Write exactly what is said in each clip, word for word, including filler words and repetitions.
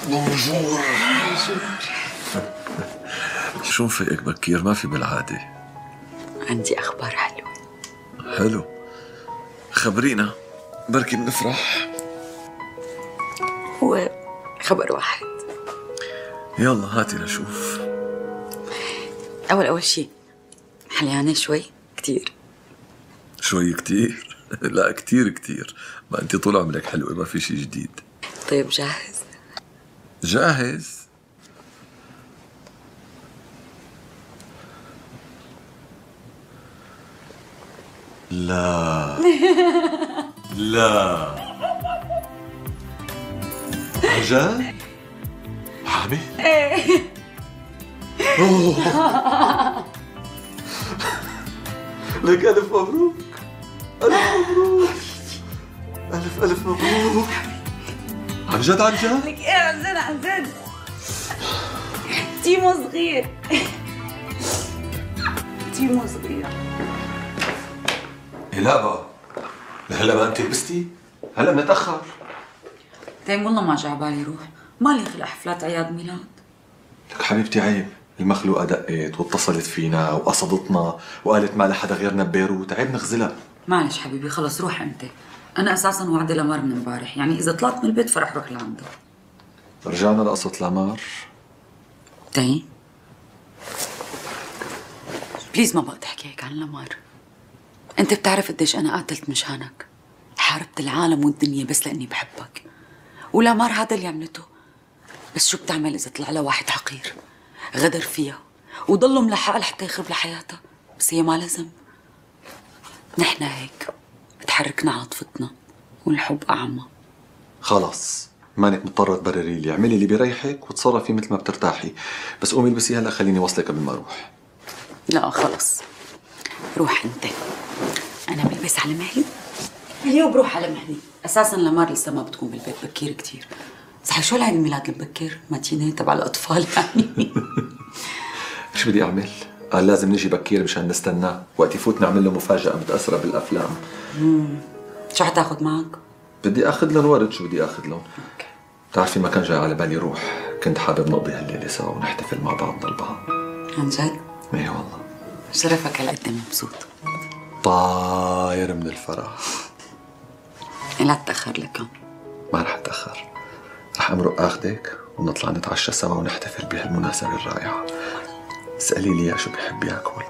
بونجور. شو مفيقك بكير؟ ما في بالعادة. عندي أخبار حلوة. حلو، خبرينا بركي بنفرح. هو خبر واحد. يلا هاتي لشوف. أول أول شي حليانة شوي كتير. شوي كتير؟ لا كتير كتير، ما أنت طول عمرك حلوة، ما في شي جديد. طيب جاهز؟ جاهز؟ لا لا عجل؟ حابي؟ ايه. لك ألف مبروك، ألف مبروك، ألف ألف مبروك. عن جد عن جد؟ لك ايه عن جد عن جد. تيمو صغير. تيمو صغير. إيه لا بقى، لهلا ما أنت لبستي؟ هلا بنتأخر. طيب والله ما جا عبالي روح، مالي خلق حفلات أعياد ميلاد. لك حبيبتي عيب، المخلوقة دقت واتصلت فينا وقصدتنا وقالت ما لحدا غيرنا ببيروت، عيب نخزلها. معلش حبيبي خلص روح أنت، أنا أساساً وعدي لمار من امبارح، يعني إذا طلعت من البيت فرح روح لعنده. رجعنا لقصة لمار. طيب بليز ما بقى تحكي هيك عن لمار. أنت بتعرف قديش أنا قاتلت مشانك، حاربت العالم والدنيا بس لأني بحبك، ولمار هذا اللي عملته. بس شو بتعمل إذا طلع لها واحد حقير غدر فيها وضله ملحقها لحتى يخرب لها حياتها، بس هي ما لازم. نحن هيك بتحركنا عاطفتنا والحب أعمى. خلص مانك مضطرة تبرري لي، اعملي اللي بيريحك وتصرفي مثل ما بترتاحي، بس قومي البسي هلا خليني وصلك قبل ما اروح. لا خلص روح انت، انا بلبس على مهلي اليوم بروح على مهلي. اساسا لمار لسه ما بتكون بالبيت بكير كثير. صحيح شو العيد الميلاد المبكر؟ ماتيني تبع الاطفال يعني. شو بدي اعمل؟ قال لازم نجي بكير مشان نستناه، وقت يفوت نعمل له مفاجأة متأثرة بالافلام. امم شو حتاخذ معك؟ بدي اخذ لهم ورد. شو بدي اخذ لهم؟ اوكي. بتعرفي ما كان جاي على بالي روح، كنت حابب نقضي هالليلة سوا ونحتفل مع بعضنا البعض. عن جد؟ ايه والله. شرفك هالقد مبسوط. طاير من الفرح. لا تتأخر لكم. ما رح اتأخر، رح امرق اخذك ونطلع نتعشى سوا ونحتفل بهالمناسبة الرائعة. اسألي لي شو بحب ياكل.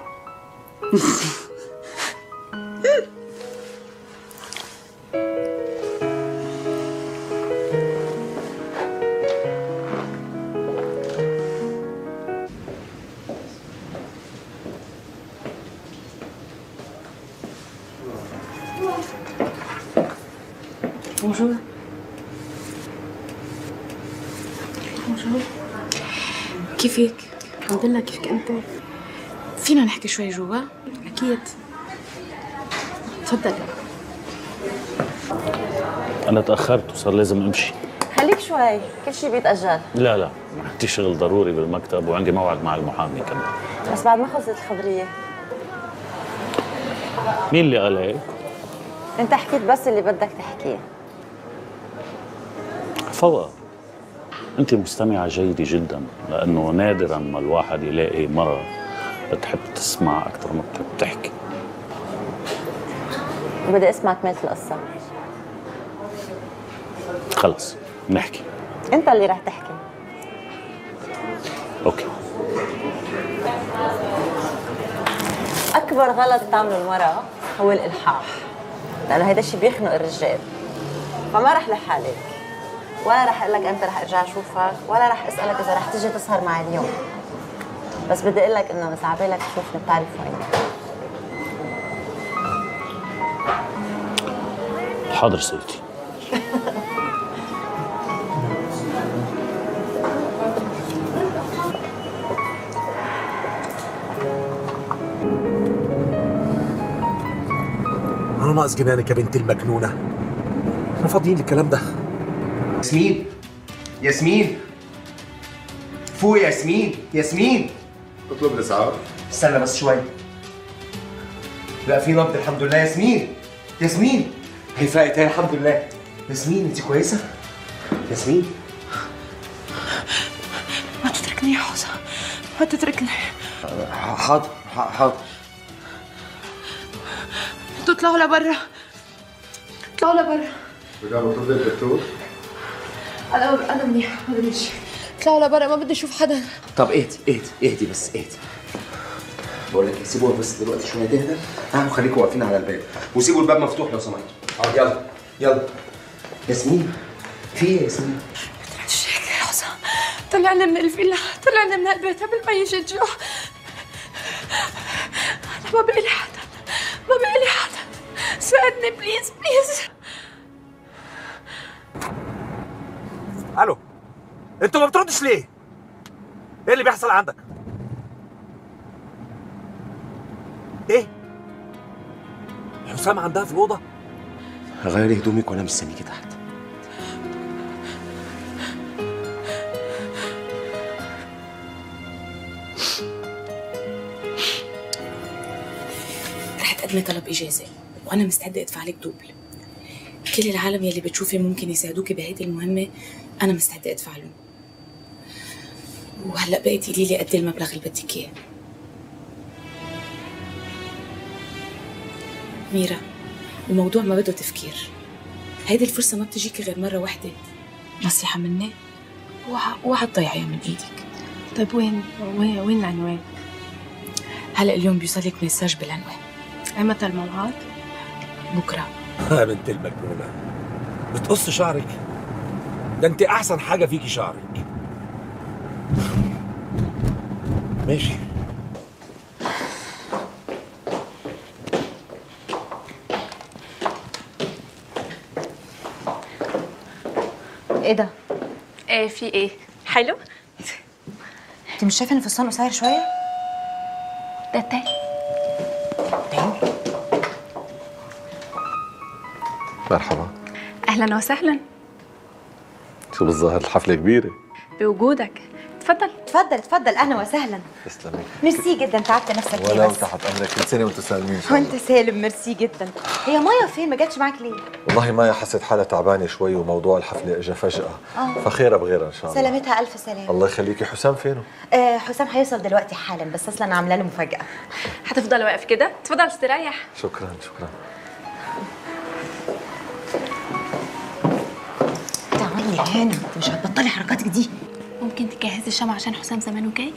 بونجور. بونجور. كيفك؟ الحمد لله، كيفك انت؟ فينا نحكي شوي جوا؟ اكيد. تفضل. انا تاخرت وصار لازم امشي. خليك شوي، كل شيء بيتاجل. لا لا، عندي شغل ضروري بالمكتب وعندي موعد مع المحامي كمان. بس بعد ما خلصت الخبريه. مين اللي قال هيك؟ انت حكيت بس اللي بدك تحكيه. فوق، انت مستمعة جيدة جدا، لانه نادرا ما الواحد يلاقي مرة بتحب تسمع اكثر ما بتحب تحكي. بدي اسمع كمالة القصة. خلص نحكي. انت اللي رح تحكي. اوكي. اكبر غلط بتعمله المرأة هو الالحاح، لانه هيدا الشيء بيخنق الرجال. فما رح لح عليك، ولا رح اقول لك امتى رح ارجع اشوفك، ولا رح اسالك اذا رح تيجي تسهر معي اليوم. بس بدي اقول لك انه اذا عبالك تشوفني بتعرف وين. حاضر سيدتي. أنا ناقص جنانك يا بنت المجنونة. احنا فاضيين للكلام ده. ياسمين، ياسمين فوق يا ياسمين، ياسمين اطلب الاسعاف. استنى بس شوي. لا في نبض الحمد لله. ياسمين، ياسمين هي فاقت هي الحمد لله. ياسمين انت كويسة؟ ياسمين منيح حسن، ما تتركني. حاضر حاضر. انتوا اطلعوا لبرا، اطلعوا لبرا. بدنا نطلب الدكتور؟ انا انا منيح، ما بدي شيء. اطلعوا لبرا، ما بدي اشوف حدا. طب اهدي اهدي اهدي بس اهدي. بقول لك سيبوها بس دلوقتي شويه تهدى، تعالوا خليكم واقفين على الباب وسيبوا الباب مفتوح لو سمحتوا. اه يلا يلا. ياسمين في ايه يا ياسمين؟ مش هيك يا حسن، طلعنا من الفيلا، طلعنا من هالبيت قبل ما يجي الجوع. انا ما بقي لي حدا، ما بقي لي حدا، ساعدني بليز بليز. الو، انتوا ما بتردش ليه؟ ايه اللي بيحصل عندك؟ ايه؟ حسام عندها في الأوضة؟ غيري هدومك وانا مستنيكي تحت. رح تقدمي طلب إجازة وأنا مستعدة أدفع لك دوبل. كل العالم يلي بتشوفي ممكن يساعدوكي بهيدي المهمة أنا مستعدة أدفع لهم. وهلأ بقي تقولي لي قد المبلغ اللي بدك إياه. ميرا، الموضوع ما بده تفكير. هيدي الفرصة ما بتجيكي غير مرة واحدة. نصيحة مني، اوعى تضيعيها من ايدك. طيب وين وين وين العنوان؟ هلا اليوم بيوصلك مساج بالعنوان. ايمتى الموعد؟ بكره. يا بنت المجنونة، بتقص شعرك؟ ده انت احسن حاجة فيكي شعرك. ماشي. ايه ده؟ ايه في ايه؟ حلو؟ انت مش شايفه ان الفستان قصير شويه؟ ده تاني. مرحبا. اهلا وسهلا. شو بالظاهر الحفلة كبيرة. بوجودك. تفضل تفضل تفضل، اهلا وسهلا. تسلمي. ميرسي جدا، تعبت نفسك ليه ولو بس؟ تحت امرك، كل سنة وانتم سالمين. وانت سالم، ميرسي جدا. هي مايا فين؟ ما جاتش معاك ليه؟ والله مايا حست حالها تعبانة شوي وموضوع الحفلة اجى فجأة. آه. فخيرة بغيرها ان شاء الله. سلامتها الف سلامه. الله يخليكي. حسام فينه؟ آه حسام هيوصل دلوقتي حالا، بس اصلا انا عامله له مفاجاه. هتفضل واقف كده؟ تفضل استريح. شكرا شكرا. تعالي هنا، انت مش هتبطلي حركاتك دي. ممكن تجهزي الشمع عشان حسام زمانه جاي؟